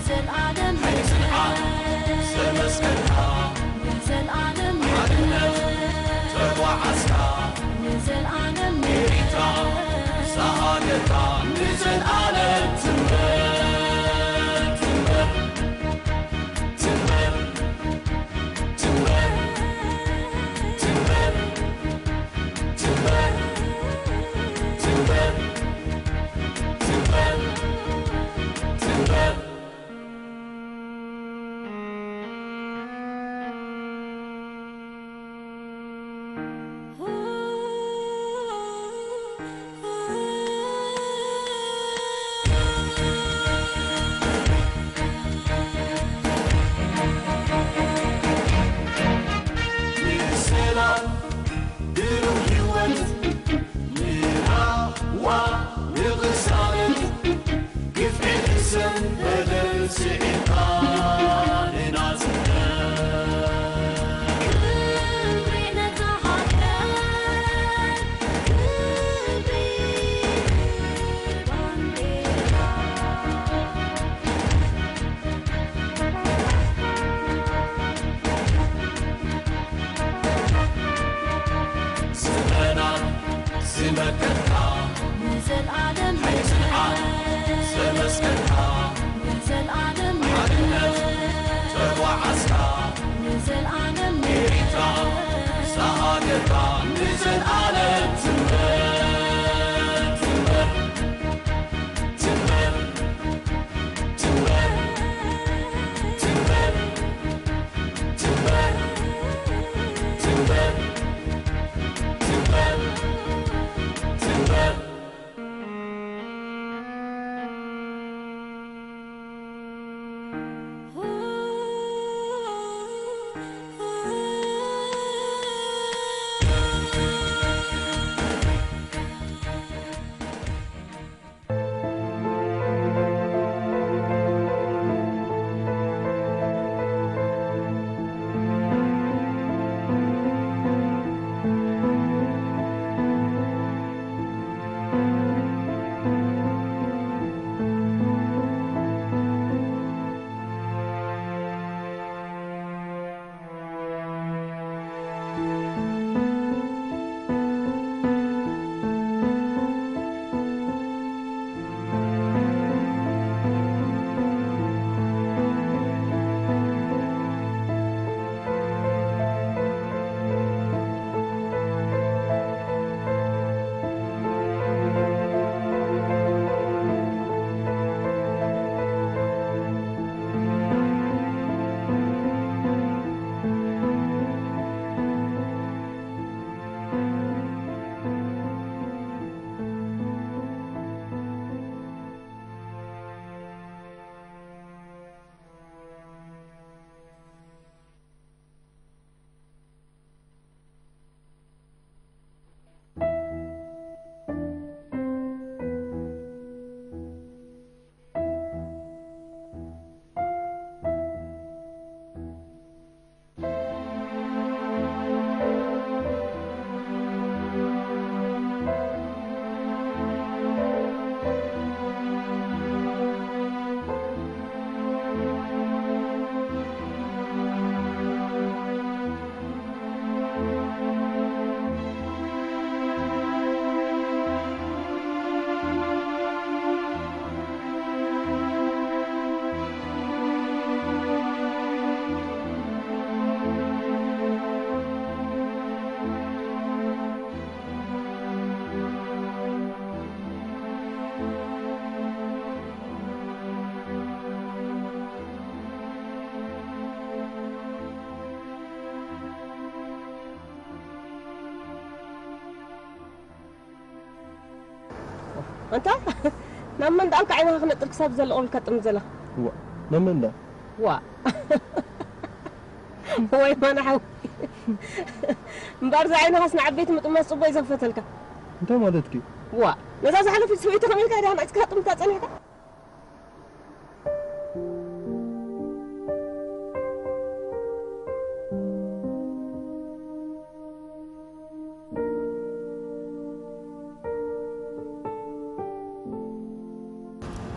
ዘልኣለም ንዘልኣለም ንዘልኣለም ንዘልኣለም ንዘልኣለም ንዘልኣለም ትንበር ትንበር ትንበር ትንበር ትንበር ትንበር ትንበር ትንበር ትንበር ንሰላም ብሩህ ህይወት ንራህዋ ንቕሳነት ግፍዒ ሕሰን በደል ስዒርካ ንናጽነት ክብሪ ነታ ሃገር ክብሪ ባንዴራ ዘመናት ዝመከትካ ንዘልኣለም ሕልምና ዘመስከርካ ንዘልኣለም ሓድነት ተጓዓዝካ ንዘልኣለም ኤሪትራ ሳሃገርካ ንዘልኣለም ትንበር ትንበር ትንበር ትንበር ትንበር ትንበር ትንበር ትንበር ትንበር ኣንታ ናብ መን ደኣልካ ዓይንኻ ክነጥር ክሳብ ዘለቕ ኢልካ ጥምት ዘለኻ? ዋ፣ ናብ መን ደኣ? ዋ። ወይ ማና ሓው። እምበኣር እዛ ዓይንኻስ ንዓበይቲ ምጥማት ጽቡቕ እዩ ዘኽፈተልካ። እንታይ ማለትኪ? ዋ፣ ነዛ ዝሓለፈት ሰበይቲ ከመይ ኢልካ ድኣ ንዕጽካ ጥምታ ጸኒሕካ?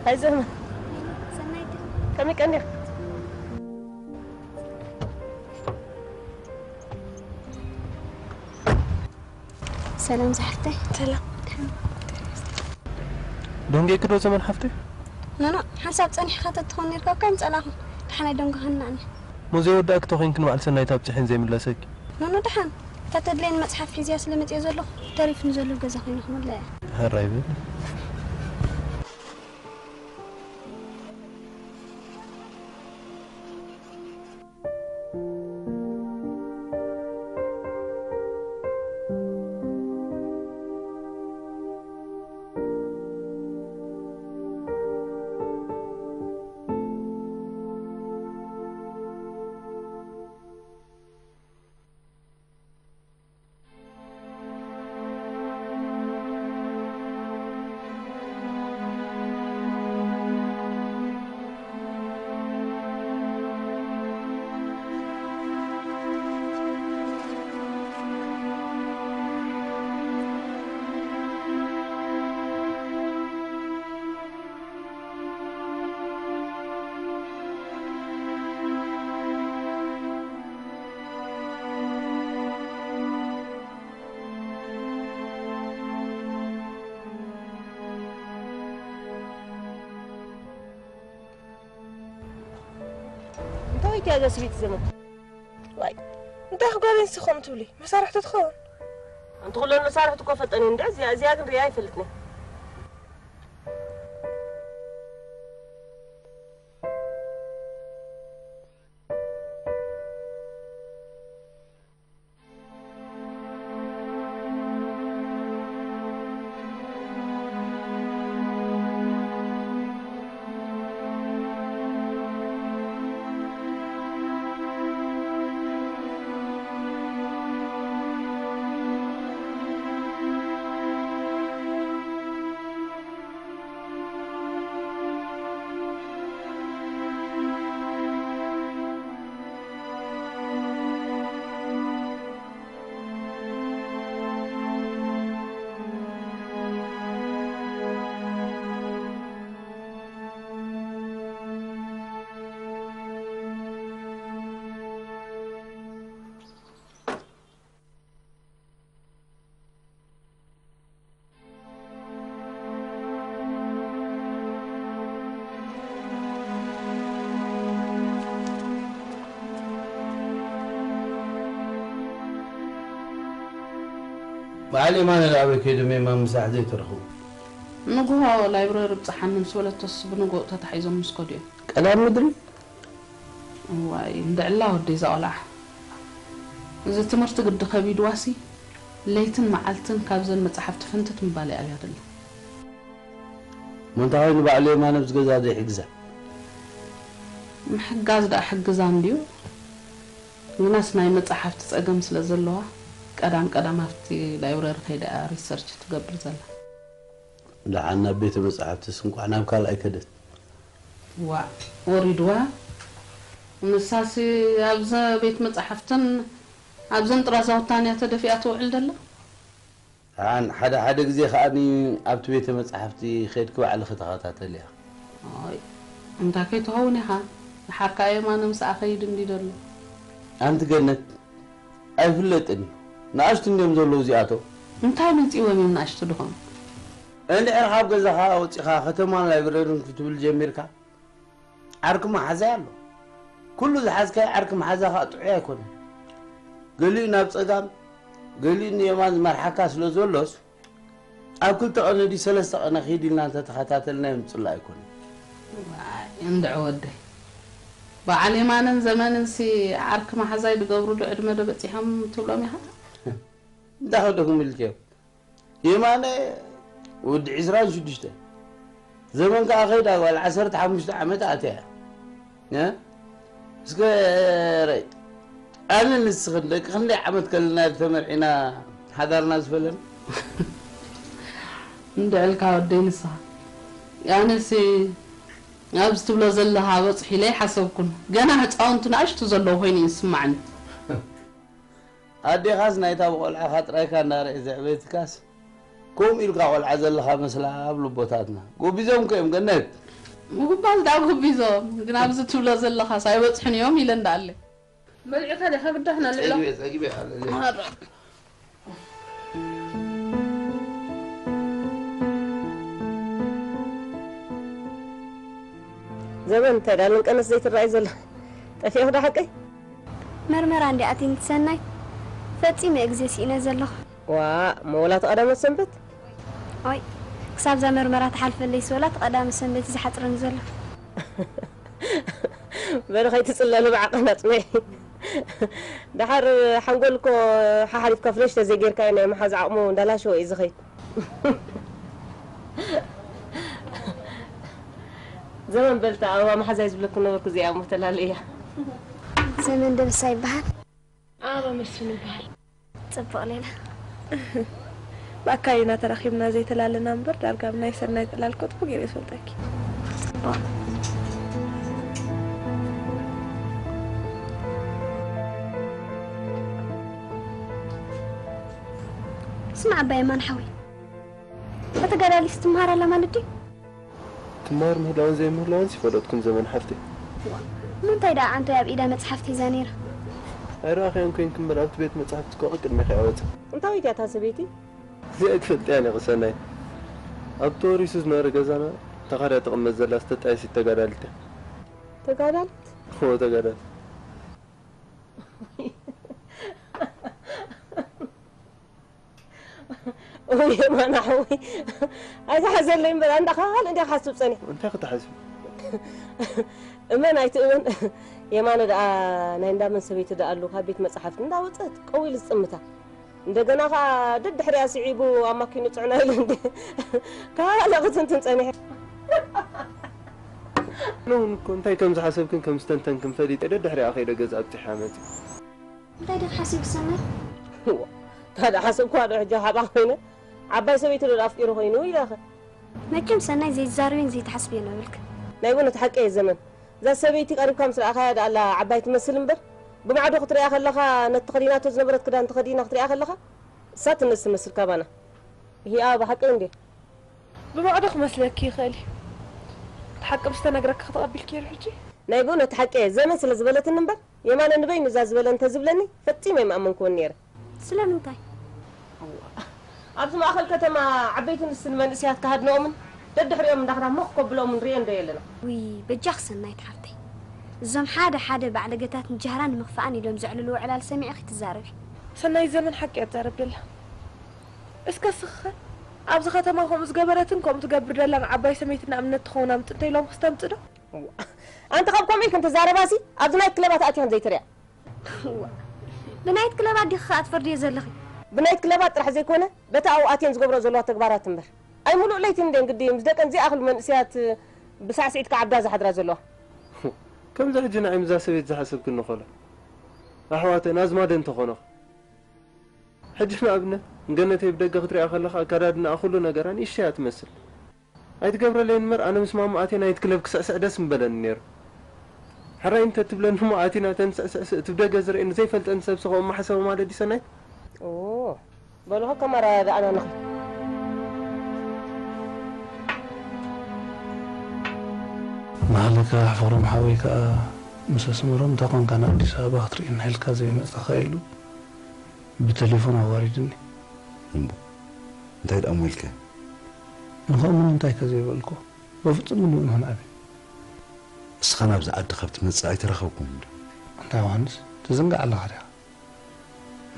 ኣይዞም። ሰናይ ድዩ? ከመይ ቀኒኺ? ሰላም ዝሓፍተይ። ሰላም። ደንጌኪ ዶ ዘመን ሓፍተይ? ኖኖ፣ ሓንሳብ ጸኒሕካ ተትኾን ኔርካ እኳ ምጸላኹ። ደሓናይ ደንጎ ሃናኒ። ሞ ዘይወዳእኪ ተኾይንኪ ንበዓል ሰናይት ኣብጺሐን ዘይምለሰኪ። ኖኖ፣ ደሓን። እታ ተድልየኒ መጽሓፍ ሒዝያ ስለ መጽየ ዘለኹ፣ ተሪፉኒ ዘሎ ገዛ ኮይነ ክመልኣ እየ። ሕራይ በል። እንታይ ወይትያ እዛ ስብይቲ ዘመን? ዋይ፣ እንታይ ክጓል እንሲ ከምኡ ትብሊ? መሳርሕቱ ትኸውን። ኣንቲ ኩለን መሳርሕቱ እኮ ፈጠን እንደ እዚኣ፣ እዚኣ ግን ሪኣ ኣይፈልጥን። በዓል የማነ ኣበይ ከይዶም የማን ምሳሕ ዘይተረኽቡ? ንግሆ ላይብረሪ ብጽሓኒ ምስ በለቶስ ብንግሆ ተታሒዞም ምስ ከዱ እዮም። ቀዳም ምድሪ? እዋይ፣ እንድዕላ ወደይ እዛ ቆልዓ። እዚ ትምህርቲ ግዲ ከቢድዋሲ፣ ለይትን መዓልትን ካብዘን መጻሕፍቲ ፍንትት ምባል እያ ኣብያ ደላ። እሞ እንታይ ኮይኑ ባዕሉ የማነ ኣብዚ ገዛ ዘይሕግዛ? ምሕጋዝ ደኣ ሕግዛ እንድዩ። ግናስ ናይ መጻሕፍቲ ጸገም ስለ ዘለዋ፣ ቀዳም ቀዳም ኣብቲ ላይብረሪ ከይዳ እያ ሪሰርች ትገብር ዘላ። ደሓን ናብ ቤተ መጻሕፍትስ እንቋዕ ናብ ካልኣይ ከደት። ዋእ፣ ወሪድዋ። ንሳሲ ኣብዘ ቤት መጻሕፍትን ኣብዘን ጥራዛውታን እያ ተደፊኣ ትውዕል ደላ። ደሓን ሓደ ሓደ ግዜ ከኣ ኣብቲ ቤተ መጻሕፍቲ ከድኪ ባዕልኺ ተኸታተልያ። ኣይ፣ እንታይ ከይትኸውን ኢኻ? ደሓር ከኣ የማነ ምስኣ ኸይድ እንዲ ደሎ። ኣንቲ ገነት፣ ኣይፍለጥን እዩ። ንኣሽቱ እንድዮም ዘለዉ እዚኣቶም። እንታይ መጺዎም እዮም ንኣሽቱ ድኾኑ? እንድሕር ካብ ገዛኻ ወጺኻ ከተማን ላይብረርን ክትብል ጀሚርካ፣ ዓርኪ መሓዛይ ኣሎ። ኩሉ ዝሓዝካዮ ዓርኪ መሓዛ ኸኣ ጥዑይ ኣይኮነን። ገሊኡ ናብ ጸጋም፣ ገሊኡ ንየማን ዝመርሓካ ስለ ዘሎስ፣ ኣብ ክልተ ቀነ ድዩ ሰለስተ ቀነ ኪድ ኢልና እንተተኸታተልናዮም ጽላእ ኣይኮነን። ዋይ፣ እንድዒ ወደይ። በዓል የማነን ዘመንንሲ ዓርኪ መሓዛይ ድገብሩሉ ዕድመ ዶ በጺሖም ትብሎም ኢኻ? እንታይ ከደኩም ኢልክዮ? የማነ ወዲ ዕስራን ሽዱሽተ። ዘመን ከኣ ከይዳ ጓል ዓሰርተ ሓሙሽተ ዓመት ኣትያ እያ። እ? እስከ ረይ፣ ኣነ ንስኽን ደቂ ክንደይ ዓመት ከለና ተመርዒና ሓዳርና ዝፈለና? እንድዕልካ ወደይ ንስኻ። ኣነሲ ኣብዚ ትብሎ ዘለኻ በጽሑ ኢለ ኣይሓሰብኩን። ገና ህጻውንቲ ንኣሽቱ ዘለዉ ኮይኑ እዩ ዝስማዓኒ። ኣዴኻስ ናይታ ብቆልዓኻ ጥራይካ እንዳርኣየ ዘዕበየትካስ፣ ከምኡ ኢልካ ቆልዓ ዘለኻ መስላ ኣብ ልቦታትና። ጎቢዞም ከ እዮም ገነት? ምጉባዝ ደኣ ጉቢዞም፣ ግን ኣብዚ ትብሎ ዘለኻስ ኣይበጽሑን እዮም ኢለ እንዳኣለ። በሊዕካ ዲኻ ግዳሕ ንልዕሎ? ጸጊበ፣ ጸጊበ ኣለኒ። ማራ። ዘመን እንታይ ዳልን ቀነስ ዘይትረኣይ ዘላ? ጠፊእኺ ዶ ሓቀይ? መርመራ እንዲ ኣቲን ትሰናይ? ፈጺመ ግዜ ስኢነ ዘለኹ። ዋእ፣ እሞ ወላ እቲ ቀዳመ ሰንበት? ኦይ፣ ክሳብ እዛ መርመራ ትሓልፈለይ ስወላ እቲ ቀዳመ ሰንበት እዩ ዝሓጽረኒ ዘሎ። በሊ ከይትጽለሊ ብዓቐን ኣጽንዒ። ደሓር ሓንጎል እኮ ሓሓሊፍካ ፍለሽ ተዘይጌርካዮ ናይ ምሓዝ ዓቕሙ እንዳላሸወ እዩ ዝኸይድ። ዘመን በልታ ኣበባ መሓዛይ ዝብለኩ ነበርኩ እዚኣ እሞ ተላለያ። ዘመን ደበሳ ይበሃል። ኣበባ መስፍን ይበሃል። ጽቡቕ ሌላ። ብኣካል ኢና ተራኺብና ዘይተላለና እምበር ዳርጋ ብናይ ሰናይ ጽላል እኮ ጽቡቕ ገይረ ይፈልጠኪ። ጽቡቕ። ስማዕ ኣባ የማነ ሓወይ፣ እታ ተጋዳሊት ትመሃር ኣላ ማለት ድዩ? ትመሃር ምህላዋን ዘይምህላዋንስ ይፈለጥኩን ዘመን ሓፍተይ። እሞ እንታይ ደኣ ዓንቶይ ኣብ ኢዳ መጽሓፍ ሒዛ ነይራ? ኣይረኣኽያን ኮይንኪ እምበር ኣብቲ ቤት መጻሕፍቲ እኮ ቅድሜኺ እያ ወጺኣ። እንታዊት እያ እታ ሰበይቲ? እዚኣ ኣይትፈልጥያን ኢኺ ሰናይ። ኣብ ተወሪሱ ዝነበረ ገዛና ተኻርያ ትቕመጥ ዘላ ዝተጣየሲት ተጋዳሊት እያ። ተጋዳሊት? እወ ተጋዳሊት። እውይ የማነ ሓወይ፣ ኣይትሓዘለይ እምበር፣ ኣንዳ ካልእ እንዲያ ክሓስብ ጸኒሐ። እንታይ ክትሓስቢ? እመን ኣይትእመን፣ የማነ ደኣ ናይ እንዳመን ሰበይቲ ደኣ ኣሉ፣ ካብ ቤት መጻሕፍቲ እንዳወጸት ቀው ኢሉ ዝጥምታ። እንደገና ኸኣ ደድሕሪኣ ስዒቡ ኣብ ማኪኑ ጽዕና ኢሉ እንዲ ካልእ ክትንትን ጸኒሐ። ኣነ እውን እኮ እንታይ ከም ዝሓሰብክን ከም ዝተንተንክን ፈሊጠ ደድሕሪኣ ከይደ ገዛ ኣብጺሐ መጺእ። እንታይ ዲኺ ሓሲብኪ ሰናይ? እዋ፣ እንታይ ደኣ ሓሰብክዋ ዶ ሕጂ ሓባ ኮይነ? ዓባይ ሰበይቲ ዶ ኣፍቂሩ ኮይኑ ኢለኸ? መቸም ሰናይ ዘይትዛረብን ዘይትሓስብን የብልኪ። ናይ ብእውነት ሓቂ እየ ዘመን። እዛ ሰበይቲ ቀሪብካ ምስ ረኣኻያ ደኣ ኣላ ዓባይ ትመስል እምበር፣ ብማዕዶ ክትሪኣ ከለኻ ነቲ ተኸዲናቶ ዝነበረት ክዳን ተኸዲና ክትሪኣ ከለኻ እሳ ትነስ ትመስል ካባና። ይሂኣ ብሓቂ እንድየ። ብማዕዶ ክመስለኪ ይኽእል እዩ። እቲ ሓቂ ምስ ተነግረኪ ከተቐቢልኪ ዶ ሕጂ? ናይ ብእውነት ሓቂ እየ። ዘመን ስለ ዝበለትኒ እምበር፣ የማነ ንበይኑ እዛ ዝበለ እንተ ዝብለኒ፣ ፈጺመ ኣይምኣመንክዎን ነይረ። ስለምንታይ? እዋ፣ ኣብዚ ማእኸል ከተማ ዓበይቲ ንስን መንእሰያት ክሃድንኦምን ደድሕሪኦም እንዳኽዳ ሞኽ ከብሎምን ርእየን ዶ የለና? ውይ፣ በጃኺ ሰናይት ሓፍተይ። እዞም ሓደ ሓደ ባዕለገታት ንጃህራ ንምኽፋእን ኢሎም ዘዕልልዎ ዕላል ሰሚዕኺ ትዛረቢ። ሰናይት ዘመን ሓቂ እያ ትዛረብ ደላ። እስከ እስኺ ኸ ኣብዚ ከተማ ከምኡ ዝገበረትን ከምኡ ትገብር ደላን ዓባይ ሰመይትና እምነት ትኸውን ኣምጽ እንተ ኢሎም ክስተምጽ ዶ? እዋ፣ ኣንቲ ካብ ከምኡ ኢልክን ትዛረባሲ ኣብዚ ናይት ክለባት ኣቲኽን ዘይትሪኣ። እዋ፣ ብናይት ክለባት ዲኺ ኸኣ ትፈርድዮ ዘለኺ? ብናይት ክለባት ጥራሕ ዘይኮነ በቲ ኣብኡ ኣትየን ዝገብሮ ዘለዋ ተግባራት እምበር። ኣይ ሙሉእ ለይቲ እንድየን ግዲ ምስ ደቀን ዘይኣኽሉ መንእሰያት ብሳዕስዒት ክዓብዳ ዝሓድራ ዘለዋ። ከምዚ ሕጂ ንዓይ ምስዛ ሰበይቲ ዝሓሰብክኒ ኸሎ ኣሕዋተን ኣዝማደን ተኾኖ። ሕጂ ንኣብነት ንገነተይ ብደገ ክትሪኣ ከለኻ ኣከዳድናኣ ኩሉ ነገራ ንእሽተይ እያ ትመስል። ኣይትገብረለይን እምበር ኣነ ምስ ማማ ኣትየ ናይት ክለብ ክስዕስዕ ደስ ምበለኒ ነይሩ። ሕራይ እንተ ትብለኒ እሞ ኣቲና ተንስዕስዕ እቲ ብደገ ዝርእየኒ ዘይፈልጠኒ ሰብሲ ከምኡ ምሓሰበ ማለት ድዩ ሰናይት? ኦ፣ በሉ ኸ ከም ኣረዳድኣና ንኺድ። መሃለካ ኣሕፈሮም ሓወይ ከኣ ምስ ኣስመሮም እንተ ኾንካ ንኣዲስ ኣበባ ክትርእየና ኢልካ ዘይመጻኻ ኢሉ ብተሌፎን ኣዋሪድኒ። እምቦ፣ እንታይ ደኣ እሞ ኢልካ? ንኸእምኖ እንታይ ከ ዘይበልኩ? በፍጹም ግን ምእመን ኣበይ? እስኻ ናብዚ ዓዲ ካብ ትመጽእ ኣይተራኸብኩምን ዶ? ኣንታ ዮሃንስ፣ ትዝንጋዕ ኣለኻ ዲኻ?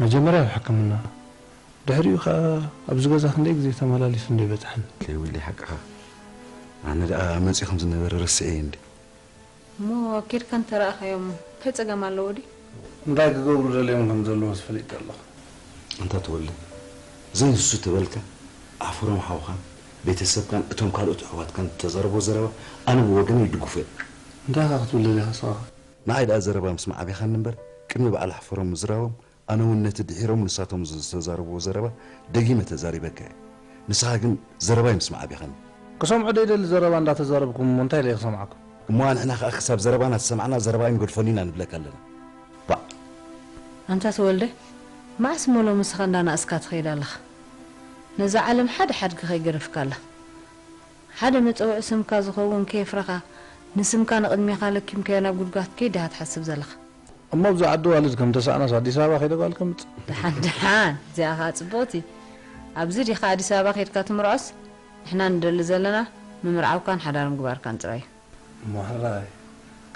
መጀመርያ ኣብ ሕክምና፣ ድሕሪኡ ኸኣ ኣብዚ ገዛ ክንደይ ግዜ ተመላሊሱ እንዶ ይበጽሐኒ። ለይወለይ ሓቅኻ። ኣነ ደኣ መጺኡ ከም ዝነበረ ረሲዐዮ እንዲ። እሞ ኬድካ እንተረኣኻዮም እንታይ ጸገም ኣለዎ ድዩ? እንታይ ክገብሩ ደልዮም ከም ዘለዎስ ፈሊጠ ኣለኹ። ኣንታ ተወልደ፣ ዘይንሱ ተበልካ፣ ኣሕፍሮም ሓውኻን ቤተሰብካን እቶም ካልኦት ኣሕዋትካን እተዛረብዎ ዘረባ ኣነ ብወገነይ ይድግፎ እየ። እንታይ ኢኻ ክትብል ደሊኻ ንስኻ ኸ? ንዓይ ደኣ ዘረባ ምስማዕ ኣቢኻኒ እምበር፣ ቅድሚ በዓል ኣሕፍሮም ምዝራቦም ኣነ እውን ነቲ ድሒሮም ንሳቶም ዝተዛረብዎ ዘረባ ደጊመ ተዛሪበካ እየ። ንስኻ ግን ዘረባይ ምስማዕ ኣቢኻኒ። ክሰምዖ ደይደሊ ዘረባ እንዳተዛረብኩም እሞ እንታይ ኢለ ክሰምዓኩም? እሞ ኣንሕና ከኣ ክሳብ ዘረባና ዝሰማዕና ዘረባይ ንገድፈሉ ኢና ንብለካ ኣለና። ባዕ! ኣንታ ተወልደ፣ መዓስ እሞ ሎሚ ንስኻ እንዳነኣስካ ትኸይድ ኣለኻ? ነዛ ዓለም ሓደ ሓድጊ ከይገደፍካ ኣላ። ሓደ መጸውዒ ስምካ ዝኸውን ከየፍረኻ፣ ንስምካ ንቕድሜኻ ለኪምካዮ ናብ ጉድጓድ ከይድ ዲኻ ትሓስብ ዘለኻ? እሞ ኣብዚ ዓዲ ዋልድ ከም ተሳእናስ ኣዲስ ኣበባ ከይደ ጓል ከምጽእ? ደሓን ደሓን፣ እዚኣ ኸኣ ጽቡቕቲ። ኣብዚ ዲኻ ኣዲስ ኣበባ ከይድካ ትምርዖስ? ንሕና ንደሊ ዘለና ምምርዓውካን ሓዳር ምግባርካን ጥራይ እዩ። እሞ ሕራይ፣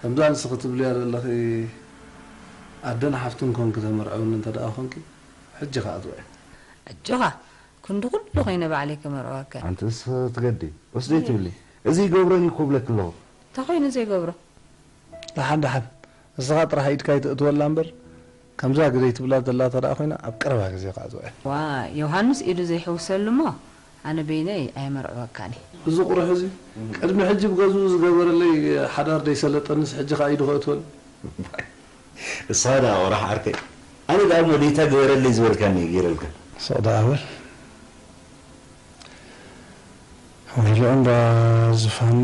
ከምዛ ንስኺ ትብልያ ዘለኺ ኣደን ሓፍትን ኮንኪ ተመርዕውኒ እንተ ደኣ ኾንኪ፣ ሕጂ ኸኣ ትውዒ። ኣጆኻ፣ ክንዲ ኩሉ ኮይነ ባዕለይ ከመርዕወካ እየ። ኣንቲ ንስኺ ትገዲ፣ ወስደይ ትብሊ። እዚ ይገብረን እዩ እኮ እብለኪ ኣለኹ። እንታይ ኮይኑ ዘይገብሮ? ደሓን ደሓን፣ ንስኻ ጥራሕ ኢድካ ኣይተእትወላ እምበር፣ ከምዛ ግደይ ትብላ ዘላ እተ ደኣ ኮይና፣ ኣብ ቀረባ ግዜ ከኣ ትውዒ። ዋእ፣ ዮሃንስ ኢዱ ዘይሕውሰሉ እሞ፣ ኣነ በይነይ ኣየመርዕወካን እየ። እዚ ቁሩሕ እዚ ቅድሚ ሕጂ ብገዝኡ ዝገበረለይ ሓዳር ደይሰለጠንስ ሕጂ ከኣ ኢዱ ከእትወኒ። ንስኻ ደኣ ቁራሕ ዓርከይ። ኣነ ደኣ እሞ ደይታ ግበረለይ ዝበልካኒ እየ ገይረልካ። ስቕ ደኣ በል። ወይልኦም ደኣ ዝፋን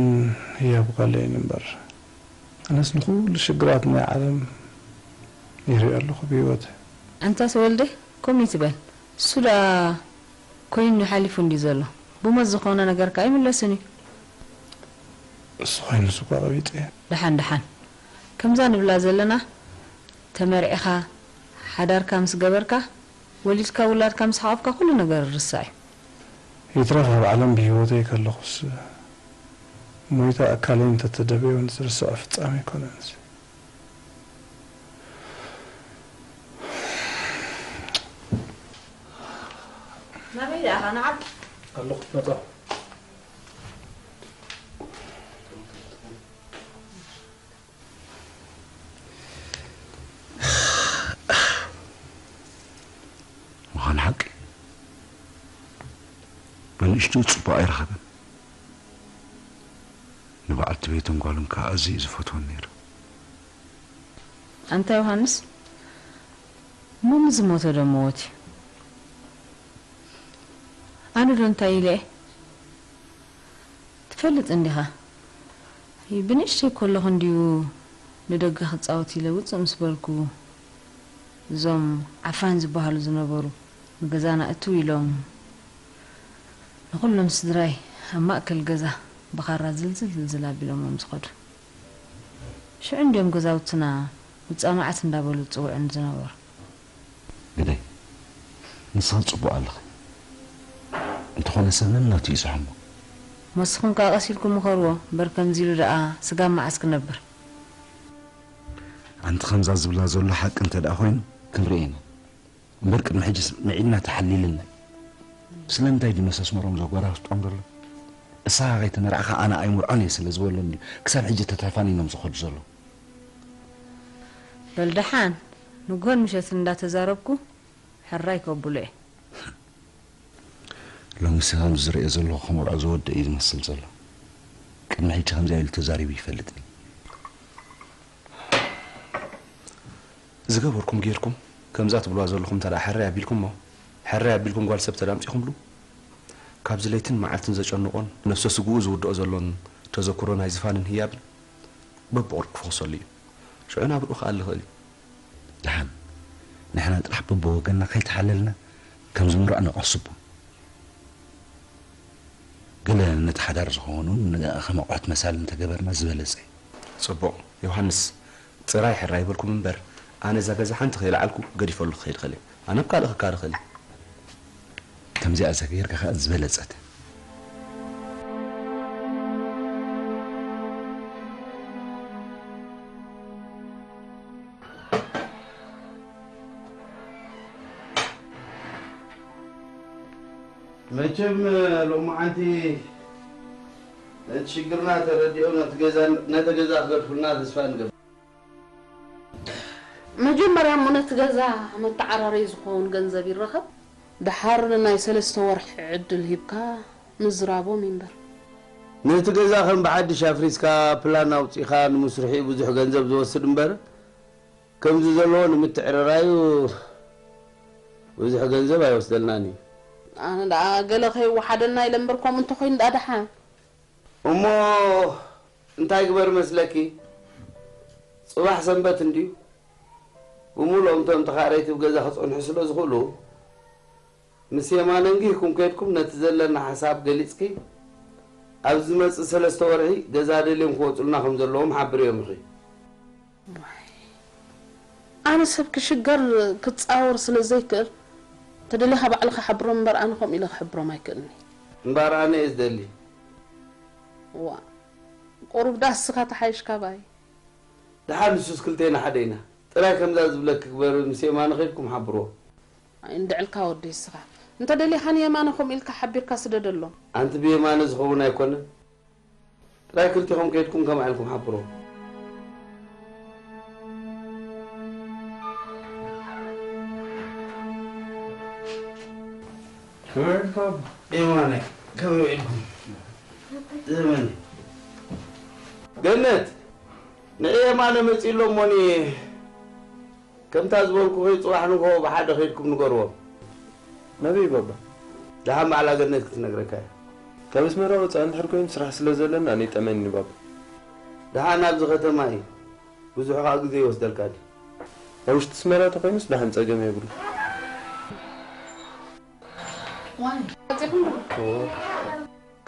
ህያብ ጓለይን እምበር። ኣነስ ንኹሉ ሽግራት ናይ ዓለም ይሪኦ ኣለኹ ብህይወተይ። ኣንታ ተወልደ ከምኡ ኣይትበል። እሱ ደኣ ኮይኑ ሓሊፉ እንድዩ ዘሎ። ብሞት ዝኾነ ነገር ከኣ ኣይምለስን እዩ። እሱ ኮይኑስ እኳ ቀቢጸ እየ። ደሓን ደሓን። ከምዛ ንብላ ዘለና ተመርዒኻ ሓዳርካ ምስ ገበርካ ወሊድካ ውላድካ ምስ ሓቖፍካ ኩሉ ነገር ይርሳዕ እዩ። ይትረፍ ኣብ ዓለም ብህይወተይ ከለኹስ ሞይታ ኣካለይ እንተተደበየ እውን ዝርስዖ ፍጻመ ኣይኮነን እዚ። ናበይ ደኣኻ ንዓብ? ኣለኹ መጻኹ። ምዃን ሓቂ ብንእሽቱ ጽቡቕ ኣይረኸበን። ንበዓልቲ ቤቱን ጓሉን ከኣ ኣዝዩ እዩ ዝፈትወን ነይሩ። ኣንታ ዮሃንስ፣ እሞ ምስ ዝሞተ ዶ ሞት እዩ? ኣነ ዶ እንታይ ኢለ እየ? ትፈልጥ እንዲኻ፣ ብንእሽተይ ከለኹ እንድዩ ንደገ ክጻወት ኢለ ውጽእ ምስ በልኩ፣ እዞም ዓፋን ዝበሃሉ ዝነበሩ ንገዛና እትው ኢሎም ንኹሎም ስድራይ ኣብ ማእከል ገዛ ብኻራ ዝልዝል ዝልዝል ኣቢሎሞም ዝኸዱ። ሽዑ እንድዮም ገዛውትና ውጻእ መዓት እንዳበሉ ዝጽውዑኒ ዝነበሩ። ግደይ፣ ንስኺ ጽቡቕ ኣለኺ። እንተኾነ ሰብ ነናቱ እዩ ዝሕሞ። ንስኹም ከኣ ቀስ ኢልኩም ምኸርዎ እምበር ከምዚ ኢሉ ደኣ ስጋብ መዓስ ክነብር? ኣንቲ ከምዛ ዝብላ ዘሎ ሓቂ እንተ ደኣ ኮይኑ ክንርኢ ኢና። እምበር ቅድሚ ሕጂስ ምዒድና ተሓሊልና እዩ። ስለምንታይ ድዩ ነሰስመሮም ዘጓራርጦም ዘሎ? እሳ ከይተመርዓኻ ኣነ ኣይምርዖን እየ ስለ ዝበሎ እንድዩ ክሳብ ሕጂ ተተፋኒኖም ዝኸዱ ዘለዉ። በል ደሓን ንግሆን ምሸትን እንዳተዛረብኩ ሕራይ ከብሎ እየ። ሎሚ ሰላም ዝርእዮ ዘለኹ ክምርዖ ዝወደ እዩ ዝመስል ዘሎ። ቅድሚ ሕጂ ከምዚኣ ኢሉ ተዛሪቡ ይፈልጥን እዩ። ዝገበርኩም ጌርኩም ከምዛ ትብልዋ ዘለኹም እንተ ደኣ ሕራይ ኣቢልኩሞ፣ ሕራይ ኣቢልኩም ጓል ሰብ ተዳምጺኹምሉ፣ ካብዚ ለይትን መዓልትን ዘጨንቖን ነፍሰ ስግኡ ዝውድኦ ዘሎን ተዘክሮ ናይ ዝፋንን ህያብን በብቕርቡ ክፈኽሰሉ እዩ። ሽዑ ናብርኡ ክኣሊ ይኽእል እዩ። ደሓን ንሕና ጥራሕ በብወገንና ከይተሓለልና ከም ዝምራዕ ነቐስቦ። ገለ ነቲ ሓዳር ዝኸውን እውን ከም ኣቑሑት መሳሊ እንተገበርና ዝበለጸ እዩ። ጽቡቕ ዮሃንስ፣ ጥራይ ሕራይ በልኩም እምበር፣ ኣነ እዛ ገዛ ሓንቲ ከይለዓልኩ ገዲፈሉ ክኸይድ እኽእል እየ። ኣነ ኣብ ካልእ ክካር እኽእል እየ። ከምዚኣ እዛ ጌርካ ኸኣ ዝበለጸት። መቸም ሎማዓንቲ ነቲ ሽግርና ተረዲኦም ነቲ ገዛ ነቲ ገዛ ክገድፉልና ተስፋ ንገብር። መጀመርያ እሞ ነቲ ገዛ መተዓራረዪ ዝኸውን ገንዘብ ይረኸብ፣ ደሓር ናይ ሰለስተ ወርሒ ዕድል ሂብካ ምዝራቦም ይንበር። ነቲ ገዛ ከም ብሓድሽ ኣፍሪስካ ፕላን ኣውጺእኻ ንምስርሒኡ ብዙሕ ገንዘብ ዝወስድ እምበር ከምዚ ዘለዎ ንምትዕርራዩ ብዙሕ ገንዘብ ኣይወስደልናን እዩ። ኣነ ደኣ ገለ ከይወሓደና ኢለ እምበር ከምኡ እንተኾይኑ ደኣ ደሓን። እሞ እንታይ ግበር መስለኪ? ጽባሕ ሰንበት እንድዩ። ብምሉኦም እቶም ተኻረይቲ ብገዛ ክጸንሑ ስለ ዝኽእሉ ምስ የማነ እንጊህኩም ከይድኩም ነቲ ዘለና ሓሳብ ገሊጽኪ ኣብ ዝመጽእ ሰለስተ ወርሒ ገዛ ደልዮም ክወጹልና ከም ዘለዎም ሓብርዮም ኢኺ። ኣነ ሰብ ክሽገር ክጻወር ስለ ዘይክእል ተደሊኻ ባዕልኻ ሓብሮም እምበር ኣነ ከምኡ ኢለ ክሕብሮም ኣይክእልኒ። እምበር ኣነ እየ ዝደሊ። ዋ ቁሩብ ዳስካ ተሓይሽ ካባይ። ደሓን ንሱስ ክልቴና ሓደ ኢና። ጥራይ ከምዛ ዝብለኪ ግበሪ፣ ምስ የማነ ከይድኩም ሓብርዎ። እንድዕልካ ወዲ እስኻ እንተ ደሊኻ ንየማነ ከምኡ ኢልካ ሓቢርካ ስደደሎም። ኣንቲ ብየማነ ዝኸውን ኣይኮነን። ጥራይ ክልቲኹም ከይድኩም ከምኣ ኢልኩም ሓብርዎ። የማነ ከመይ ውዒልኩም? ዘመነ ገነት ንዒ የማነ መጺኡ ኣሎ እሞኒ ከምታ ዝበልኩኺ ጽባሕ ንግሆ ብሓደ ከይድኩም ንገርዎም። ናበይ ባባ? ደሓን ባዕላ ገነት ክትነግረካ እያ። ካብ ኣስመራ ወጻኢ እንድሕር ኮይኑ ስራሕ ስለ ዘለኒ ኣነ ይጠመኒ ባባ። ደሓን ኣብዚ ከተማ እዩ። ብዙሕ ከኣ ግዜ ይወስደልካ ድዩ? ኣብ ውሽጢ ኣስመራ ተኾይኑስ ደሓን ጸገም የብሉ።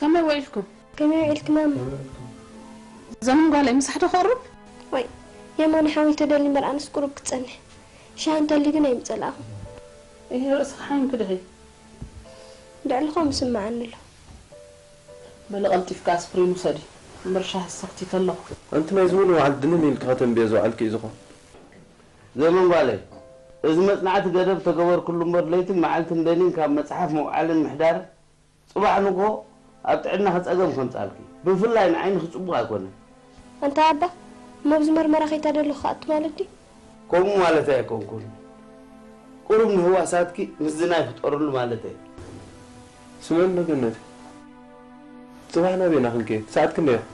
ከመይ ውዒልኩም? ከመይ ውዒልክና እሞ? ዘመን ጓለይ ምሳሕ ዶ ክቕርብ? ወይ የማነ ሓወይ ተደሊ እምበር ኣነስ ቁሩብ ክጸንሕ። ሻሂ እንተልዩ ግን ኣይምጸላእኹን። እሂ ርእስኺ ሓሚምኪ ዲኺ? ድዕሊ ከምኡ ይስምዓኒ ኣሎ። በሊ ቀልጢፍኪ ኣስፕሪን ውሰዲ እምበር ሻሂ ሰኽቲተ ኣለኹ። ኣንቲ ናይ ዝሙሉ በዓል ድንን ኢልኪ ከተንብዮ ዝወዓልኪ እዩ ዝኾን። ዘመን ጓለይ፣ እዚ መጽናዕቲ ገደብ ተገበርክሉ እምበር ለይትን መዓልትን ደኒን ካብ መጽሓፍ ምውዓልን ምሕዳርን ጽባሕ ንግሆ ኣብ ጥዕናኺ ጸገም ከምጽኣልኪ፣ ብፍላይ ንዓይንኺ ጽቡቕ ኣይኮነን። ኣንታ ኣባ፣ እሞ ኣብዚ መርመራ ከይተደለኹ ክኣቱ ማለት ድዩ? ከምኡ ማለተይ ኣይኮንኩን። ቁሩብ ንህዋሳትኪ ምዝናይ ፍጠርሉ ማለተይ። ስምዕኒ ዶ ገነተይ፣ ጽባሕ ናበይና ክንከይድ? ሰዓት ክንደይ ኢኹም?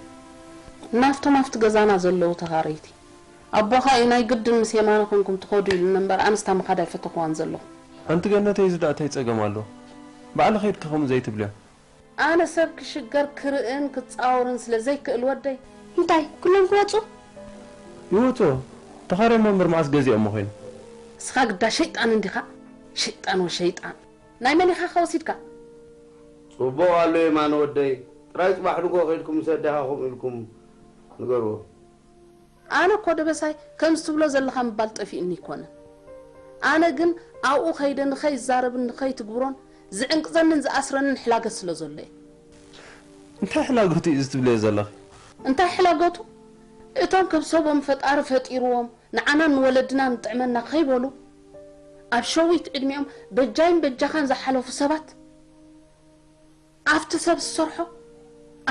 ናብቶም ኣብቲ ገዛና ዘለዉ ተኻረይቲ። ኣቦኻ እዩ ናይ ግድን ምስ የማነ ኮንኩም ትኸዱ ኢሉኒ እምበር ኣነስ እታ ምኻድ ኣይፈተኹዋን ዘለኹ። ኣንቲ ገነተይ እዚ ደኣ ታይ ጸገም ኣለዎ? ባዕሊ ኸይድኪ ከምኡ ዘይትብልዮ። ኣነ ሰብ ክሽገር ክርእን ክጻወርን ስለ ዘይክእል ወደይ። እንታይ ኩሎም ክወጹ? ይውጹ። ተኻርዮሞ እምበር መዓስ ገዚኦሞ ኮይኖም። እስኻ ግዳ ሸይጣን እንዲኻ ሸይጣን ወሸይጣን። ናይ መን ኢኻ ከ ወሲድካ? ጽቡቕ ኣሎ የማነ ወደይ፣ ጥራይ ጽባሕ ንግሆ ከይድኩም ምስ ኣዴኻ ከምኡ ኢልኩም ንገርዎ። ኣነ እኮ ደበሳይ ከምዚ ትብሎ ዘለኻ ምባል ጠፊኡኒ ኣይኮነን። ኣነ ግን ኣብኡ ከይደ ንኸይዛረብን ንኸይትግብሮን ዝዕንቅዘንን ዝኣስረንን ሕላገት ስለ ዘሎ እየ። እንታይ ሕላገቱ እዩ እዚ ትብልዮ ዘለኺ? እንታይ ሕላገቱ? እቶም ከብሰቦም ፈጣሪ ፈጢርዎም ንዓናን ንወለድናን ይጥዕመና ከይበሉ ኣብ ሸዊት ዕድሚኦም በጃይን በጃኻን ዝሓለፉ ሰባት ኣብቲ ሰብ ዝሰርሖ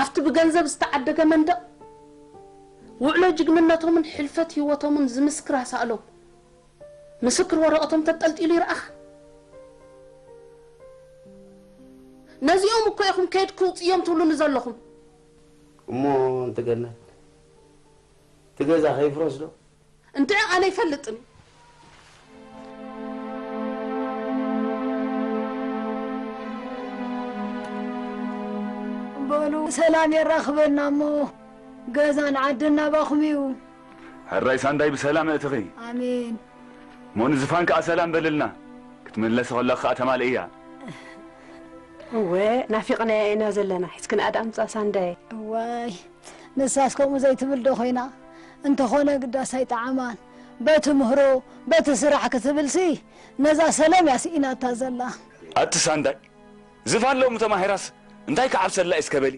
ኣብቲ ብገንዘብ ዝተዓደገ መንደቕ ውዕሎ ጅግንነቶምን ሕልፈት ህይወቶምን ዝምስክር ኣሳእሎም ምስክር ወረቐቶም ተንጠልጢሉ ይርኣኻ። ነዚኦም እኮ ኢኹም ከይድኪ ውፅዮም ትብሉኒ ዘለኹም። እሞ ኣንቲ ገነት እቲ ገዛ ከይፍረስ ዶ? እንድዒ ኣነ ኣይፈልጥን። በሉ ሰላም የራኽበና እሞ ገዛን ዓድን ናባኹም እዩ። ሕራይ ሳንዳይ ብሰላም ኣእትኺ። ኣሜን። እሞ ንዝፋን ከኣ ሰላም በልልና። ክትምለሲ ከለኺ ከኣ ተማልእያ። እወ ናፊቕናያ ኢና ዘለና። ሒዝክንኣ ደኣ ምጻእ ሳንዳይ። እዋይ ንሳስ ከምኡ ዘይትብል ዶ ኮይና? እንተኾነ ግዳስ ኣይጠዓማን። በቲ ምህሮ በቲ ስራሕ ክትብልሲ ነዛ ሰለም እያ ስኢናታ ዘላ። ኣቲ ሳንዳይ ዝፋን ሎሚ ተማሂራስ እንታይ ክዓብሰላ እዩ እስከ በሊ።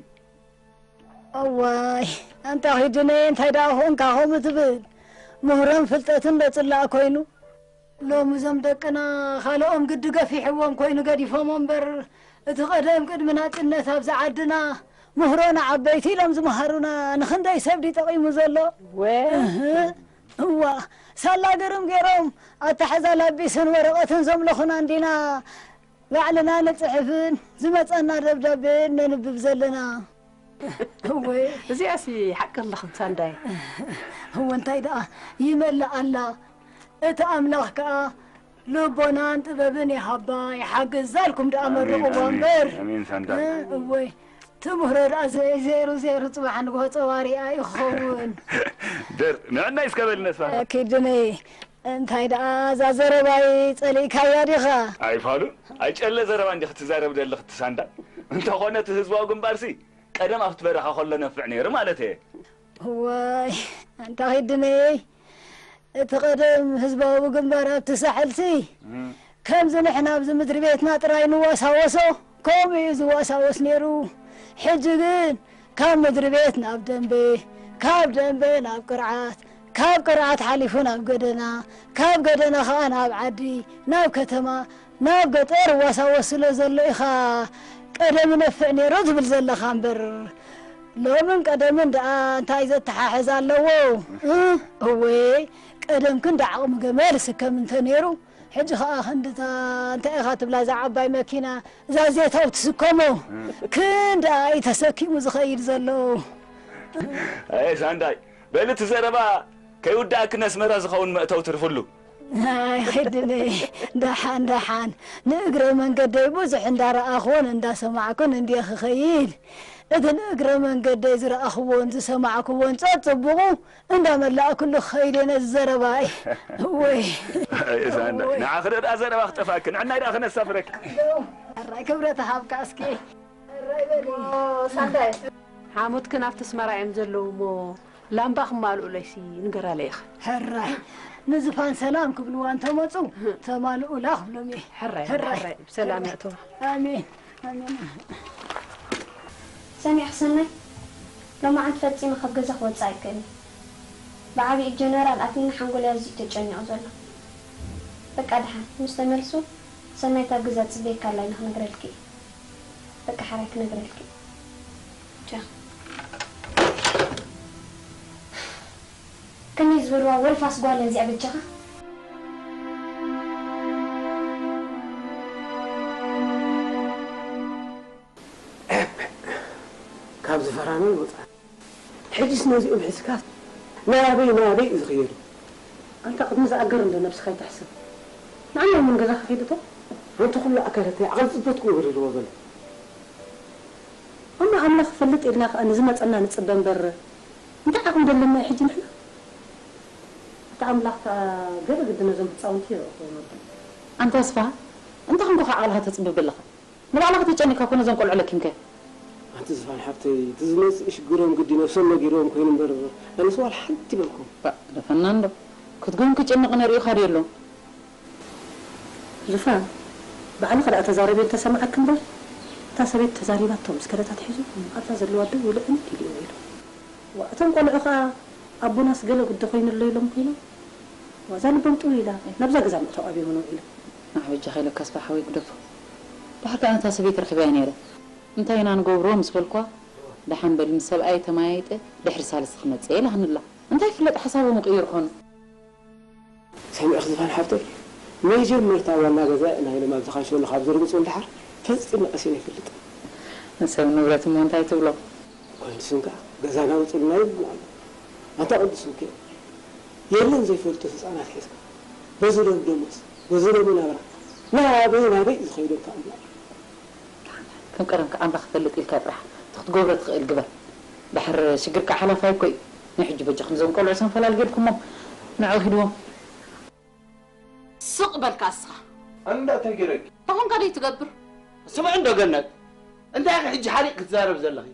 እዋይ ኣንታ ኺድነየ እንታይ ደኣ ኾንካ ኸምኡ ትብል? ምህሮን ፍልጠትን ዶ ጽላእ ኮይኑ? ሎሚ እዞም ደቅና ካልኦም ግዲ ገፊሕዎም ኮይኑ ገዲፎሞ እምበር እቲ ቀደም ቅድሚ ናጽነት ኣብዚ ዓድና ምህሮ ንዓበይቲ ኢሎም ዝመሃሩና ንኽንደይ ሰብ ድዩ ጠቒሙ ዘሎ? ወ እህ፣ እዋ ሳላ ግርም ገይሮም ኣተሓዛ ላቢስን ወረቐትን ዘምለኹና እንዲና ባዕልና ንጽሕፍን ዝመጸና ደብዳቤ ነንብብ ዘለና። እወ እዚኣሲ ሓቂ ኣለኽን ሳንዳይ። እወ እንታይ ደኣ ይመልእ ኣላ እቲ ኣምላኽ ከኣ ልቦናን ጥበብን ይሃባ ይሓግዛ ኢልኩም ደኣ መርቕዋ እምበር። ኣሜን ሳንዳይ። እወ ትምህሮ ደኣ ዘይ- ዘይሩ ዘይሩ ጽባሕ ንግሆ ጸዋሪኣ እዩ ክኸውን። ደር ንዕናይ እስከ በልነስ ፋ ኪድኒ እንታይ ደኣ እዛ ዘረባይ ጸሊእካያ ዲኻ? ኣይፋሉ ኣይጨለ ዘረባ እንዲኺ ትዛረብ ደለኺ ትሳንዳ እንተኾነ እቲ ህዝባዊ ግንባርሲ ቀደም ኣብቲ በረኻ ከሎ ነፍዕ ነይሩ ማለት እየ። እዋይ፣ ኣንታ ኺድነይ፣ እቲ ቀደም ህዝባዊ ግንባር ኣብቲ ሳሕልሲ፣ ከምዚ ንሕና ኣብዚ ምድሪ ቤትና ጥራይ ንዋሳወሶ፣ ከምኡ እዩ ዝዋሳወስ ነይሩ። ሕጂ ግን ካብ ምድሪ ቤት ናብ ደንበ፣ ካብ ደንበ ናብ ቅርዓት፣ ካብ ቅርዓት ሓሊፉ ናብ ገደና፣ ካብ ገደና ኸኣ ናብ ዓዲ፣ ናብ ከተማ፣ ናብ ገጠር እዋሳወስ ስለ ዘሎ ኢኻ ቀደም ይነፍዕ ነይሩ ትብል ዘለኻ እምበር፣ ሎምን ቀደምን ደኣ እንታይ ዘተሓሕዝ ኣለዎ? እ? እወ፣ ቀደም ክንዲ ዓቕሚ ገመል ስከም እንተ ነይሩ፣ ሕጂ ኸኣ ክንድታ እንታይ ኢኻ ትብላ እዛ ዓባይ መኪና፣ እዛ ዜታው ትስከሞ፣ ክንድኣ እዩ ተሰኪሙ ዝኸይድ ዘሎ። ኣየ ሳንዳይ፣ በሊ እቲ ዘረባ ከይውዳእክን ኣስመራ ዝኸውን መእተዊ ትርፍሉ። ኣይ፣ ኺድኒ፣ ደሓን፣ ደሓን። ንእግረ መንገደይ ብዙሕ እንዳረኣኹን እንዳሰማዕኩን እንድየ ክኸይድ። እቲ ንእግረ መንገደይ ዝረኣኽዎን ዝሰማዕክዎን ጸጽቡቑ እንዳመላእኩሉ ክኸይድ እየ ነዚ ዘረባይ። እወይ። ኣየ ሳንዳይ፣ እወይ። ንዓኺ ደኣ ዘረባ ክጠፍኣኪ፣ ንዕናይ ደኣ ክነሳፍረኪ። ሕራይ ክብረት ሃብካ እስኪ። ሕራይ በሊ። ኦ፣ ሳንዳይ። ሓሙትክን ኣብቲ ኣስመራ እዮም ዘለዉ እሞ፣ ላምባ ክማልኡለይሲ ንገራለይ ኢኺ። ሕራይ። ንዝፋን ሰላም ክብልዋ እንተመጹ፣ ተማልኡላ ክብሎም እየ። ሕራይ፣ ሕራይ። ሕራይ። ብሰላም የእትዋ። ኣሜን። ኣሜን። ሰሚዕኺ ሰናይ፣ ሎማዓንቲ ፈጺመ ካብ ገዛ ክወጽእ ኣይክእልን። ብዓቢኡ ጀነራል ኣትዩኒ ሓንጎለይ ኣዝዩ ተጨኒቑ ዘሎ። በቃ ደሓን ምስ ተመልሱ ሰናይት ኣብ ገዛ ትጽበየካ ኣላ ኢለ ክነግረልኪ እየ። በቃ ሓራይ ክነግረልኪ እየ። ቻው። ከመይ ዝበልዋ ወልፋስ ጓል እያ እዚኣ በጃኻ? ካብ ዝፈራመ ይወፃ። ሕጂስ ነዚኦም ሒዝካስ ናበይ ናበይ እዩ ዝኽየዱ? ኣንታ ቅድሚ ዝኣገር እንዶ ነብስኻ ይትሕሰብ። ንዓና እውን ገዛ ክኸይድ እቶ? ኣንታ ኩሉ ኣካላተይ ዓቕሊ ጽበት ክገብር ኣለዎ በለ። እሞ ኣምላኽ ይፈልጥ ኢልና ከኣ ንዝመጸና ንጽበ እምበር፣ እንታይ ዓቕሚ ደለና እዩ ሕጂ ንሕና? እቲ ኣምላኽ ከኣ ገለ ግዲ ነዞም ህጻውንቲ የረኽቦም ኣሎ። ኣንታ ኣስፍሃ፣ እንታይ ኮንካ ዓቕልኻ ተጽብብ ኣለኻ? ንባዕልኻ ተጨኒቕካ እኮ ነዞም ቆልዑ ለኪምካዮም። ኣንቲ ዝፋን ሓብተይ፣ እቲ ዝመጽእ ሽግሮም ግዲ ነብሶም ነጊርዎም ኮይኑ እምበር፣ ኣነስ ዋላ ሓንቲ በልኩም። ባእ፣ ደፈና እንዶ። ክትግህም ክጭንቕ ነሪኡኻ ድዩ ኣሎ? ዝፋን፣ ባዕልኻ ደኣ ተዛረቢ እንተሰማዓኪ እምበር፣ እታ ሰበይቲ ተዛሪባቶ ምስ ከደት ኣትሒዙ ኣብዛ ዘለዋ ደው ኢሉ ዕንድ ኢሉ እዩ ውዒሉ። ዋ፣ እቶም ቆልዑ ኸኣ ኣቦናስ ገለ ግዲ ኮይኑ ኣሎ ኢሎም ኮይኖም፣ ዋ፣ እዛ ልቦም ጥው ኢላ ናብዛ ገዛ ምእታው ኣብዮም ውዒሎም። ንዓ በጃኻ ኢለካ ኣስፍሃ ሓወይ ግደፎ። ድሓር ከኣ ነታ ሰበይቲ ረኺበያ ነይረ። እንታይ ኢና ንገብሮ ምስ በልኳ፣ ደሓን በሊ ምስ ሰብኣየ ተመያይጠ ድሕሪ ሳልስቲ ክመጽእ እየ ኢላትኒ ኣላ። እንታይ ይፍለጥ ሓሳቦም ይቕይሩ ኾኑ። ሰሚዕኺ ዝፋን ሓብተይ፣ መጀመርታ ዋና ገዛ ኢና ኢሎም ኣብ ዝኸሸሉ ካብ ዘርግጹ ንደሓር ፈጺመ ቀሲነ ኣይፈልጥን። ንሰብ ንብረት እሞ እንታይ ትብሎ? ቅዱስን ከኣ ገዛና ውጹልና ይብሉ ኣለዉ። ኣንታ ቅዱስን ከ የለን ዘይፈልጡ ህጻናት ሒዝካ በዚ ሎም ደሞስ በዚ ሎም ናብራ ናበይ ናበይ እዩ ዝኸይዱ ኣንታ ኣምላኽ። ከም ቀደምካ ኣምላኽ ይፈልጥ ኢልካ ጥራሕ እቲ ክትገብሮ ትኽእል ግበር። ድሕር ሽግርካ ሓላፋይ እኮ እዩ። ናይ ሕጂ በጃኹም እዞም ቆልዑ ሰም ፈላል ጌርኩሞም ንዕኡ ሂድዎም። ስቕ በልካ እስኻ። ኣንዳ እንታይ ገይረኪ? እንታይ ኾንካ ደይ ትገብር? ስምዒ እንዶ ገነት፣ እንታይ ኢኺ ሕጂ ሓሪቕ ክትዛረብ ዘለኺ?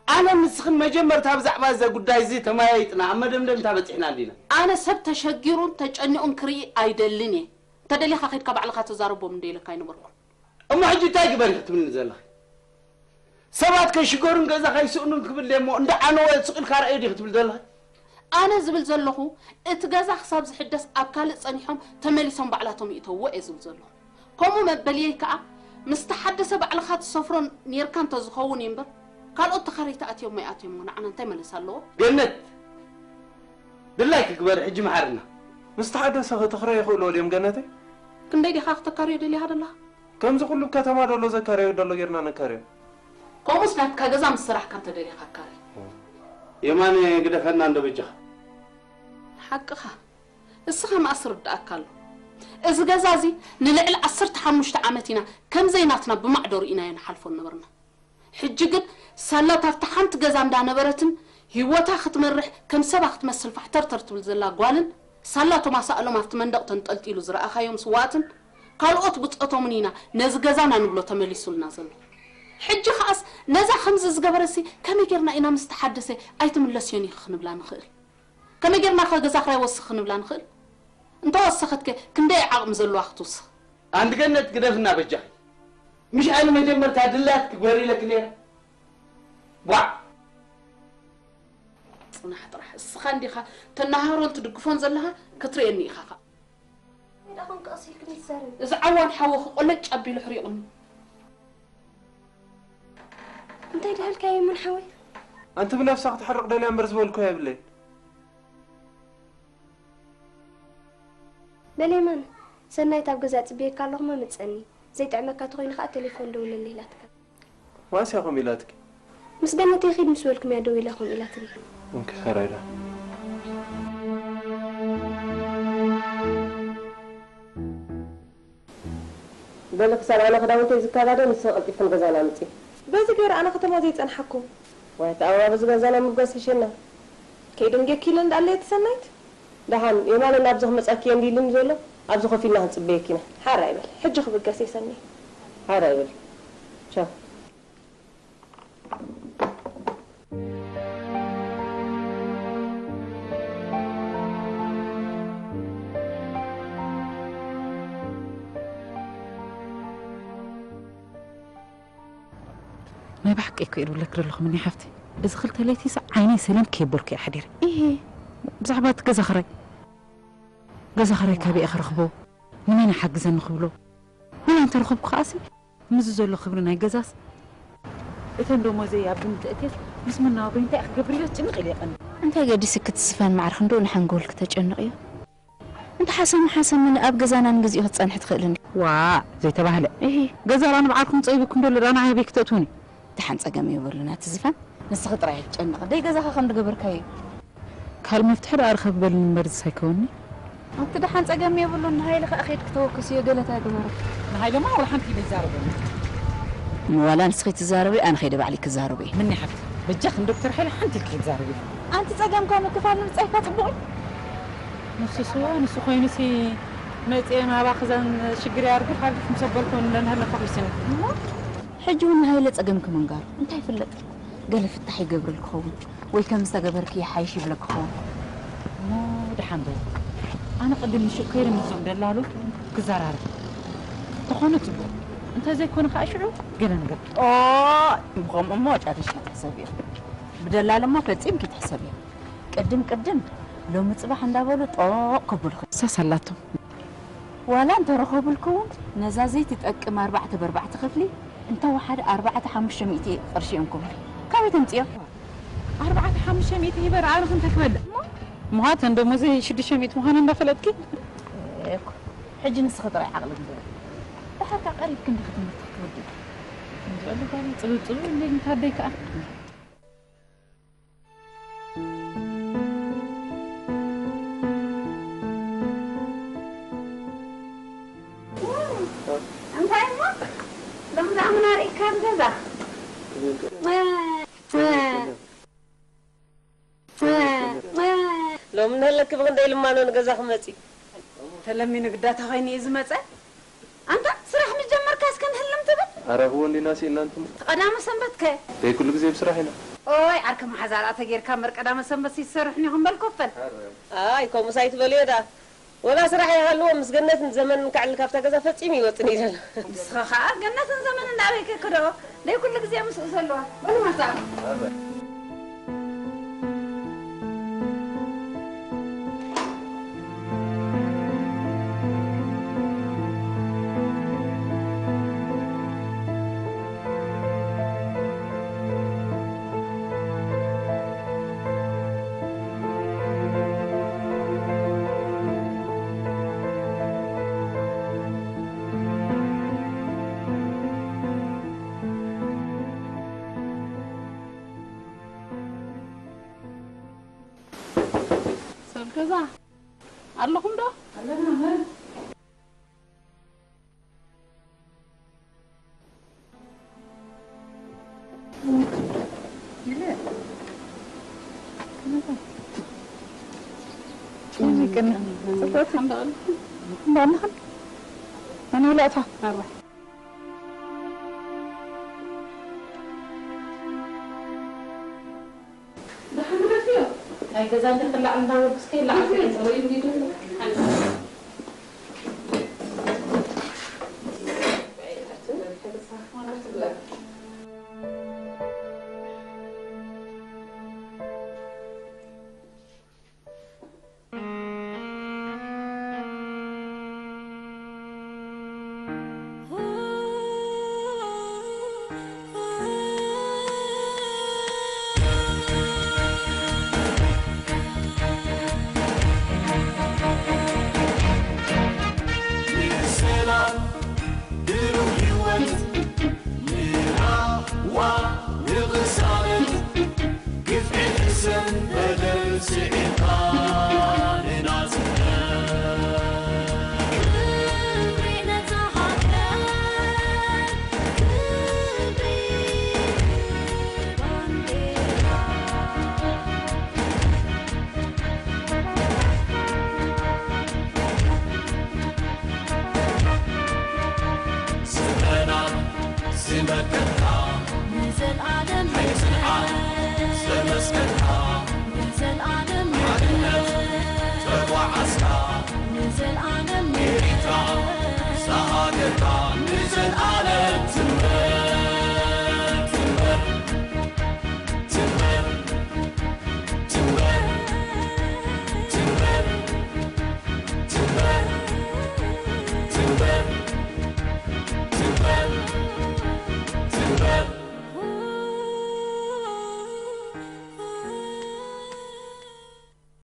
ኣነ ንስኽን መጀመርታ ብዛዕባ እዚ ጉዳይ እዚ ተመያይጥና ኣብ መደምደምታ በጺሕና እንዲና። ኣነ ሰብ ተሸጊሩን ተጨኒቑን ክርኢ ኣይደልን እየ። እንተደሊኻ ኸይድካ ባዕልኻ ተዛረቦም እንደ ኢለካ ኣይነበርኩን። እሞ ሕጂ እንታይ ግበሪ ክትብልኒ ዘለኺ? ሰባት ከይሽገሩን ገዛ ከይስእኑን ክብል እሞ እንዳ ዓነወ ስቕ ኢልካ ርኣዩ ዲኺ ክትብል ዘለኺ? ኣነ ዝብል ዘለኹ እቲ ገዛ ክሳብ ዝሕደስ ኣብ ካልእ ጸኒሖም ተመሊሶም ባዕላቶም ይእተውዎ እየ ዝብል ዘለኹ። ከምኡ መበልየይ ከኣ ምስ ተሓደሰ ባዕልኻ ትሰፍሮ ኔርካ እንተዝኸውን እዩ እምበር ካልኦት ተኻረይቲ ኣትዮሞ ኣይኣትዮሞ ንዓና እንታይ መለሳ ኣለዎ? ገነት ድላይኪ ግበሪ ሕጂ መሓርና። ምስ ተሓደሰ ኸ ተኽረዮ ይኽእልዎ ድዮም ገነተይ? ክንደይ ዲኻ ክተካርዮ ደሊኻ ደለኻ? ከምዚ ኩሉ ከተማ ደሎ ዘካረዮ ደሎ ጌርና ነካርዮ። ከምኡስ ናትካ ገዛ ምስ ሰራሕካ እንተ ደሊኻ ኣካሪ። የማነ ግደፈና እንዶ በጃኻ። ሓቅኻ። እስኻ መኣስ ርድኣካ ኣሎ። እዚ ገዛ እዚ ንልዕሊ ዓሰርተ ሓሙሽተ ዓመት ኢና ከም ዘይናትና ብማዕደሩ ኢናዮ ንሓልፎ ነበርና። ሕጂ ግን ሳላ ኣብታ ሓንቲ ገዛ እንዳነበረትን ህይወታ ክትመርሕ ከም ሰባ ክትመስል ፋሕተርተር ትብል ዘላ ጓልን ሳላ እቶም ኣሳእሎም ኣብቲ መንደቕ ተንጠልጢሉ ዝረኣኻዮም ስዋኣትን ካልኦት ብጾቶምን ኢና ነዚ ገዛና ንብሎ ተመሊሱልና ዘሎ። ሕጂ ኸኣስ ነዛ ከምዚ ዝገበረሲ ከመይ ጌርና ኢና ምስ ተሓደሰ ኣይትምለስዮን ኢኺ ክንብላ ንኽእል? ከመይ ጌርና ኸ ገዛ ክራይ ወስኽ ክንብላ ንኽእል? እንተወሰኸትከ ክንደይ ዓቕሚ ዘለዋ ክትውስኽ? ኣንቲ ገነት ግደፍና በጃኺ። ምሽ ኣነ መጀመርታ ድላትኪ ክግበር ኢለኪ ነይረ። ቧዕ! ጽናሕ ጥራሕ። እስኻ እንዲኻ ተናሃሮን ትድግፎን ዘለኻ ክትርእየኒ ኢኻ ኸኣ። ሜዳ ኾንክ ቀስ ኢልክ ዘይትዛረቢ። እዚ ዓዋን ሓወኺ ቆለጭ ኣቢሉ ሕሪቑኒ። እንታይ ደሃልካዮ ይሙን ሓወይ? ኣንቲ ብነብሳ ክትሕርቕ ደልያ እምበር ዝበልኩ የብለይን። በሌማን፣ ሰናይት ኣብ ገዛ ጽብየካ ኣለኹ፣ መምጸኒ። ዘይጥዕመካ ተኾይኑ ኸኣ ቴሌፎን ደውለለይ ኢላትካ። ዋስ ኢያ ከምኡ ኢላትኪ? ምስ ገነተይ ኺድ ምስ በልኩም እያ ደው ኢላ ከምኡ ኢላትኒ። ኦኬ፣ ሕራይ ዶ። በሊ ክሳብ ኣነ ክዳውንተይ ዝከዳደ ንስኺ ቀልጢፍክን ገዛና ምጺ። በዚ ገይረ ኣነ ከተማ ዘይጸንሓኩም። ዋይ፣ እቲ ኣበባ በዚ ገዛና ምጓዝ ሕሸና። ከይደንጌኪ ኢለ እንዳኣለየ ትሰናይት። ደሓን የማነ ናብዚ ክመጻኪ እየ እንዲልኒ ዘሎ፣ ኣብዚ ኮፍ ኢልና ክንጽበየኪ ኢና። ሓራይ በል፣ ሕጂ ክብገስ እየ ሰኒ። ሓራይ በል። ቻው። ናይ ብሓቂ እኮ እየ ዝብለኪ ዘለኹ፣ ምኒ ሓፍቲ። እዚ ክልተ ለይቲ ሲ ዓይነይ ሰሊም ከይበልኩ እየ ሓዲረ። እሂ። ብዛዕባ እቲ ገዛ ኽራይ። ገዛ ኽራይ ካበይ እየ ክረኽቦ? ንመን ይሓግዘኒ ክብሎ? ወላ እንተረኸብኩ ከኣሲ፣ ምስዚ ዘሎ ክብሪ ናይ ገዛስ፣ እተን ደሞዘይ ኣብ ግምት እትየስ፣ ምስ መነባብሮይ እንታይ ክገብር ኢለ ጭንቕ ኢለ ይቐኒ። እንታይ ገዲስኪ እቲ ዝፋን ማዕርኪ እንዶ ንሓንጎልኪ ተጨንቕዮ? እንተ ሓሰሙ ሓሰሙ ኣብ ገዛና ንግዚኡ ክትጸንሒ ትኽእል እንዲ። ዋእ፣ ዘይተባህለ። እሂ። ገዛ ደኣ ንባዕልኩም ጸቢብኩም ደሎ ደኣ ንዓይ ኣበይ ክተእትውኒ? ደሓን ጸገም የብሉን ኣቲ ዝፋን። ንስኺ ጥራይ ኣይትጨነቒ። ደይ ገዛኻ ከም ዝገበርካዮ እዩ። ካልእ መፍትሒ ደኣ ርኸቢ በልኒ እምበር ዝስ ኣይከውንኒ። ኣቲ ደሓን ጸገም የብሉን። ንሃይለ ከኣ ኸይድኪ ተወከስዮ ገለ እንታይ ግበሪ። ንሃይለማ ወላ ሓንቲ ኢለ ይዛረበኒ። ዋላ ንስኺ ትዛረቢ ኣነ ኸይደ ባዕለይ ክዛረቦ እየ። ምኒ ሓፍቲ፣ በጃኺ ንዶክተር ሃይለ ሓንቲ ኢልኪ ክትዛረቢ። ኣንቲ ጸገምካ ምክፋል ንምጻይካ ጽቡቕ እዩ። ንሱስ እወ፣ ንሱ ኮይኑሲ መጽየ ናባኺ እዘን ሽግር ኣርግፍ ኣርግፍ ምስ ኣበልኩ እንደንሃለፋ ኺስኒ። እሞ ሕጂ እውን ንሃይለ ጸገምኪ ምንጋሩ እንታይ ይፍለጥ? ገለ ፍታሕ ይገብረልኪ ኸውን ወይ ከም ዝተገበርኪ ይሓይሽ ይብለኪ ኸውን። እሞ ደሓን በል። ኣነ ቅድም ንሹቕ ከይደ ምስዞም ደላሉ ክዘራረብ። ተኾነ ጽቡቕ። እንተ ዘይኮነ ኸኣ ሽዑ ገለ ነገር። ኦ፣ ብኸምኡ እሞ ጨሪሽኪ ትሕሰብዮ። ብደላሎ እሞ ፈጺምኪ ትሕሰብዮ። ቅድም ቅድም ሎሚ ጽባሕ እንዳበሉ ጦቕ ከብሉኺ። እሳስ ኣላቶም። ዋላ እንተረኸቡልኪ እውን ነዛ ዘይትጠቅም ኣርባዕተ ብኣርባዕተ ክፍሊ እንተወሓደ ኣርባዕተ ሓሙሽተ ሚእቲ ቅርሺ እዮም ክብሉ። ካበይ ተምጽዮ? ኣርባዕተ ሓሙሽተ ሚእቲ ሂበ ረኣርኽ እንታይ ክበልዕ? እሞ? እሞ ሃተን ደሞዘይ ሽዱሽተ ሚእቲ ምዃኑ እንዳፈለጥኪ? እኮ፣ ሕጂ ንስኺ ጥራይ ዓቕሊ ግበሪ። ድሓር ከኣ ቀሪብኪ እንዲኺ ትምህርቲ ክትወድኢ። ከምዚ በሉ ጓል ጽብብ ጽብብ እንዴ እንታይ ኣደይ ከኣ? እንታይ እሞ? ሎሚ ደኣ ምን ኣርኢካ ኣብ ገዛ? ሎሚ እንሀለኪ ብኽንደይ ልማኖ ንገዛ ክመጺ? ተለሚኑ ግዳታ ኾይኑ እዩ ዝመጸ። ኣንታ ስራሕ ምስ ጀመርካስ ክንህልም ትብል? ኣረ እወ እንዲና ስኢልና እንትን። እቲ ቀዳመ ሰንበት ከ? ደይ ኩሉ ግዜ ብስራሕ ኢና። ኦይ ዓርኪ መሓዛ ደኣ ተጌርካ እምበር ቀዳመ ሰንበት ይሰርሕን ኢኹም በል ኮፈል። ኣይ ከምኡስ ኣይትበልዮ ደኣ። ወላ ስራሕ ይሃልዎ ምስ ገነትን ዘመንን ከዕል ካብታ ገዛ ፈጺሙ ይወጽን እዩ ዘሎ። ንስኻ ኸኣ ገነትን ዘመንን ናበይ ከክደኦ? ደይ ኩሉ ግዜ ምስኡ ዘለዋ። በሉ መጻ። ሰብ ገዛ ኣለኹም ዶ? ኣለና። ገዛ እንተትላዕ እንዳበልኩ እስከ ይላዓል። ንሰላም ብሩህ ህይወት ንራህዋ ንቕሳነት ግፍዒ ሕሰም በደል ስዒርካ ንናጽነት። ክብሪ ነታ ሃገር፣ ክብሪ ባንዴራ። ስምረና ዝመከትካ ንዘልኣለም ሕጽንዓት ዘመስከርካ ንዘልኣለም ሓድነት ተጓዓዝካ ንዘልኣለም ኤሪትራ ዝሃገርካ ንዘልኣለም